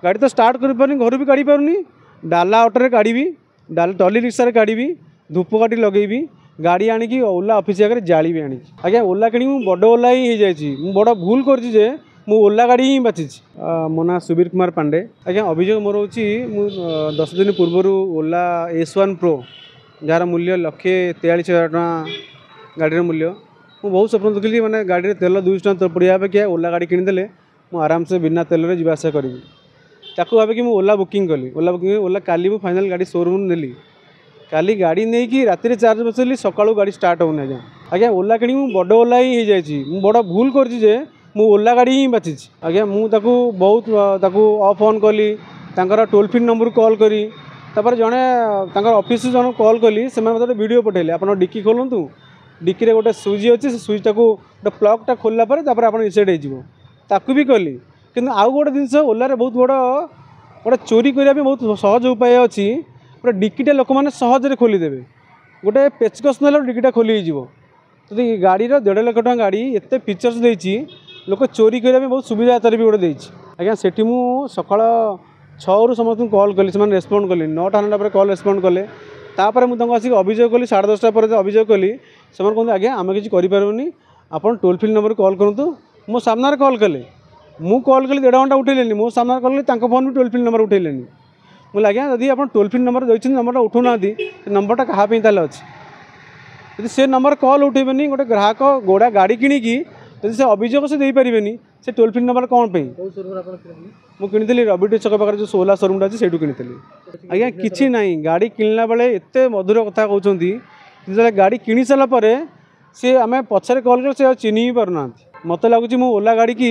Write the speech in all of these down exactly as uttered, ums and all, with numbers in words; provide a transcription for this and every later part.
ଗାଡ଼ି ତ ଷ୍ଟାର୍ଟ କରିପାରୁନି, ଘରୁ ବି କାଢ଼ି ପାରୁନି। ଡାଲା ଅଟୋରେ କାଢ଼ିବି, ଡାଲା ଟଲି ରିକ୍ସାରେ କାଢ଼ିବି, ଧୂପକାଠି ଲଗେଇବି, ଗାଡ଼ି ଆଣିକି ଓଲା ଅଫିସ୍ ଆଗରେ ଜାଳିବି ଆଣିକି। ଆଜ୍ଞା, ଓଲା କିଣିକି ମୁଁ ବଡ଼ ଓଲା ହିଁ ହେଇଯାଇଛି। ମୁଁ ବଡ଼ ଭୁଲ କରିଛି ଯେ ମୁଁ ଓଲା ଗାଡ଼ି ହିଁ ବାଛିଛି। ମୋ ନାଁ ସୁବୀର କୁମାର ପାଣ୍ଡେ। ଆଜ୍ଞା, ଅଭିଯୋଗ ମୋର ହେଉଛି, ମୁଁ ଦଶ ଦିନ ପୂର୍ବରୁ ଓଲା ଏସ୍ ୱାନ୍ ପ୍ରୋ, ଯାହାର ମୂଲ୍ୟ ଲକ୍ଷେ ତେୟାଳିଶ ହଜାର ଟଙ୍କା ଗାଡ଼ିର ମୂଲ୍ୟ, ମୁଁ ବହୁତ ସ୍ୱପ୍ନ ଦେଖିଲି, ମାନେ ଗାଡ଼ିରେ ତେଲ ଦୁଇଶହ ଟଙ୍କା ପଡ଼ିବା ଅପେକ୍ଷା ଓଲା ଗାଡ଼ି କିଣିଦେଲେ ମୁଁ ଆରାମସେ ବିନା ତେଲରେ ଯିବା ଆସିବା କରିବି। ତାକୁ ଭାବିକି ମୁଁ ଓଲା ବୁକିଂ କଲି। ଓଲା ବୁକିଂ, ଓଲା କାଲି ମୁଁ ଫାଇନାଲ୍ ଗାଡ଼ି ସୋରୁମ୍ରୁ ନେଲି। କାଲି ଗାଡ଼ି ନେଇକି ରାତିରେ ଚାର୍ଜ ବସେଇଲି, ସକାଳୁ ଗାଡ଼ି ଷ୍ଟାର୍ଟ ହେଉନି। ଆଜ୍ଞା ଆଜ୍ଞା ଓଲା କିଣିକି ମୁଁ ବଡ଼ ଓଲା ହିଁ ହେଇଯାଇଛି। ମୁଁ ବଡ଼ ଭୁଲ କରିଛି ଯେ ମୁଁ ଓଲା ଗାଡ଼ି ହିଁ ବାଛିଛି। ଆଜ୍ଞା, ମୁଁ ତାକୁ ବହୁତ ତାକୁ ଅଫ୍ ଅନ୍ କଲି, ତାଙ୍କର ଟୋଲ୍ ଫ୍ରି ନମ୍ବରକୁ କଲ୍ କରି, ତାପରେ ଜଣେ ତାଙ୍କର ଅଫିସରୁ ଜଣକୁ କଲ୍ କଲି। ସେମାନେ ମୋତେ ଗୋଟେ ଭିଡ଼ିଓ ପଠାଇଲେ, ଆପଣ ଡିକି ଖୋଲନ୍ତୁ, ଡିକିରେ ଗୋଟେ ସୁଇଚ୍ ଅଛି, ସେ ସୁଇଚ୍ଟାକୁ ଗୋଟେ ପ୍ଲଗ୍ଟା ଖୋଲିଲା ପରେ ତାପରେ ଆପଣ ରିସେଟ୍ ହେଇଯିବ। ତାକୁ ବି କଲି। କିନ୍ତୁ ଆଉ ଗୋଟେ ଜିନିଷ, ଓଲାରେ ବହୁତ ବଡ଼ ଗୋଟେ ଚୋରି କରିବା ପାଇଁ ବହୁତ ସହଜ ଉପାୟ ଅଛି। ଗୋଟେ ଡିକିଟା ଲୋକମାନେ ସହଜରେ ଖୋଲିଦେବେ, ଗୋଟେ ପେଚକସ୍ ନେଲେ ଡିକିଟା ଖୋଲି ହେଇଯିବ। ଯଦି ଗାଡ଼ିର ଦେଢ଼ ଲକ୍ଷ ଟଙ୍କା ଗାଡ଼ି ଏତେ ଫିଚର୍ସ ଦେଇଛି, ଲୋକ ଚୋରି କରିବା ପାଇଁ ବହୁତ ସୁବିଧା ତାର ବି ଗୋଟେ ଦେଇଛି। ଆଜ୍ଞା, ସେଠି ମୁଁ ସକାଳ ଛଅରୁ ସମସ୍ତଙ୍କୁ କଲ୍ କଲି, ସେମାନେ ରେସ୍ପଣ୍ଡ କଲେନି। ନଅଟା ନଅଟା ପରେ କଲ୍ ରେସ୍ପଣ୍ଡ କଲେ। ତାପରେ ମୁଁ ତାଙ୍କୁ ଆସିକି ଅଭିଯୋଗ କଲି, ସାଢ଼େ ଦଶଟା ପରେ ଅଭିଯୋଗ କଲି। ସେମାନେ କୁହନ୍ତି, ଆଜ୍ଞା ଆମେ କିଛି କରିପାରିବୁନି, ଆପଣ ଟୋଲ୍ ଫ୍ରି ନମ୍ବରରେ କଲ୍ କରନ୍ତୁ। ମୋ ସାମ୍ନାରେ କଲ୍ କଲେ, ମୁଁ କଲ୍ କଲି ଦେଢ଼ ଘଣ୍ଟା, ଉଠେଇଲେନି। ମୋ ସାମ୍ନାରେ କଲ୍ କଲି, ତାଙ୍କ ଫୋନ୍ ବି ଟୋଲ୍ ଫ୍ରି ନମ୍ବର ଉଠେଇଲେନି। ମୁଁ କହିଲି, ଆଜ୍ଞା ଯଦି ଆପଣ ଟୋଲ୍ ଫ୍ରି ନମ୍ବର ଦେଇଛନ୍ତି, ନମ୍ବରଟା ଉଠାଉନାହାନ୍ତି, ସେ ନମ୍ବରଟା କାହା ପାଇଁ ତାହେଲେ ଅଛି? ଯଦି ସେ ନମ୍ବର କଲ୍ ଉଠେଇବେନି, ଗୋଟେ ଗ୍ରାହକ ଗୋଡ଼ା ଗାଡ଼ି କିଣିକି ଯଦି ସେ ଅଭିଯୋଗ ସେ ଦେଇପାରିବେନି, ସେ ଟୋଲ୍ ଫ୍ରି ନମ୍ବର କ'ଣ ପାଇଁ? ମୁଁ କିଣିଥିଲି ରବିଟି ଛକ ପାଖରେ ଯେଉଁ ଓଲା ସୋରୁମ୍ଟା ଅଛି, ସେଇଠୁ କିଣିଥିଲି। ଆଜ୍ଞା, କିଛି ନାହିଁ, ଗାଡ଼ି କିଣିଲା ବେଳେ ଏତେ ମଧୁର କଥା କହୁଛନ୍ତି, ଯେତେବେଳେ ଗାଡ଼ି କିଣି ସାରିଲା ପରେ ସିଏ ଆମେ ପଛରେ କଲ୍ କଲେ ସେ ଆଉ ଚିହ୍ନି ବି ପାରୁନାହାନ୍ତି। ମୋତେ ଲାଗୁଛି ମୁଁ ଓଲା ଗାଡ଼ିକି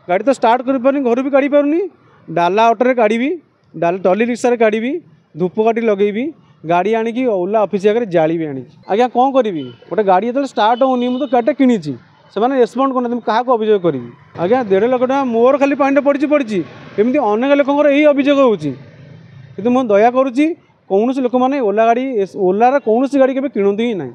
ଗାଡ଼ି ତ ଷ୍ଟାର୍ଟ କରିପାରୁନି, ଘରୁ ବି କାଢ଼ି ପାରୁନି। ଡାଲା ଅଟୋରେ କାଢ଼ିବି, ଡାଲା ଟଲି ରିକ୍ସାରେ କାଢ଼ିବି, ଧୂପକାଠି ଲଗେଇବି, ଗାଡ଼ି ଆଣିକି ଓଲା ଅଫିସ୍ ଆଗରେ ଜାଳିବି ଆଣିକି। ଆଜ୍ଞା, କ'ଣ କରିବି? ଗୋଟେ ଗାଡ଼ି ଯେତେବେଳେ ଷ୍ଟାର୍ଟ ହେଉନି, ମୁଁ ତ ଗାଡ଼ିଟା କିଣିଛି, ସେମାନେ ରେସ୍ପଣ୍ଡ କରୁନାହାନ୍ତି, ମୁଁ କାହାକୁ ଅଭିଯୋଗ କରିବି? ଆଜ୍ଞା, ଦେଢ଼ ଲକ୍ଷ ଟଙ୍କା ମୋର ଖାଲି ପାଣିରେ ପଡ଼ିଛି ପଡ଼ିଛି, ଏମିତି ଅନେକ ଲୋକଙ୍କର ଏଇ ଅଭିଯୋଗ ହେଉଛି। କିନ୍ତୁ ମୁଁ ଦୟା କରୁଛି, କୌଣସି ଲୋକମାନେ ଓଲା ଗାଡ଼ି, ଓଲାର କୌଣସି ଗାଡ଼ି କେବେ କିଣନ୍ତୁ ହିଁ ନାହିଁ।